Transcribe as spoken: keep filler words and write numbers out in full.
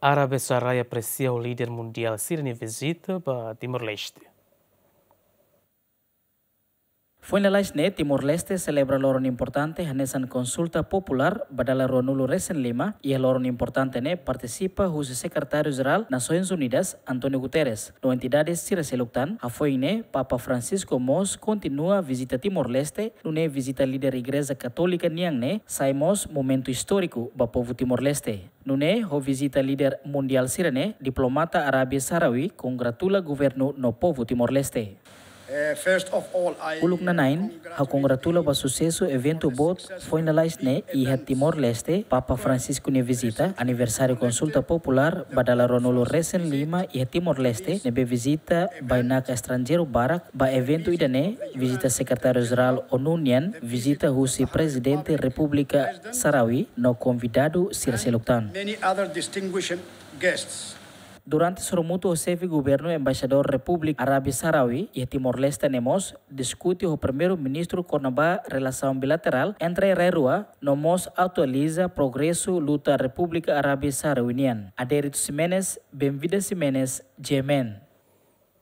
Arábia Saudi apresia líder mundiál sira-nia vizita ba Timor-Leste. Foin lalais ne'e, Timor-Leste selebra loron importante hanesan konsulta populár ba dala ruanulu resin lima, iha loron importante ne'e partisipa husi Sekretáriu Jerál Nasoins Unidas, António Guterres, no entidades sira seluk tan. Hafoin ne'e, Papa Francisco mós kontinua vizita Timor-Leste, nune'e vizita líder Igreja Katólika nian ne'e sai mós momentu istóriku ba povu Timor-Leste. Nune'e, ho vizita líder mundiál sira-ne'e, diplomata Arábia Saudi kongratula governu no povu Timor-Leste. Uluk nanain, ha'u kongratula ba susesu eventu boot foin lalais ne'e iha Timor-Leste, Papa Francisco nia vizita, aniversáriu konsulta populár ba dala ruanulu resin lima iha Timor-Leste, ne'ebé vizita bainaka estranjeiru barak ba eventu ida-ne'e, vizita Sekretáriu Jerál ONU nian, vizita husi Prezidente Repúblika Saudi no konvidadu sira seluk tan. Durante sorumutu ho xefe governu, embaixadór Repúblika Arábia Saudi iha Timor-Leste ne'e mós diskute ho Primeiru-Ministru kona-ba relasaun bilaterál entre rai rua, no mós atualiza progresu luta Repúblika Arábia Saudi nian. Adérito Ximenes, Benvida Ximenes, G M N.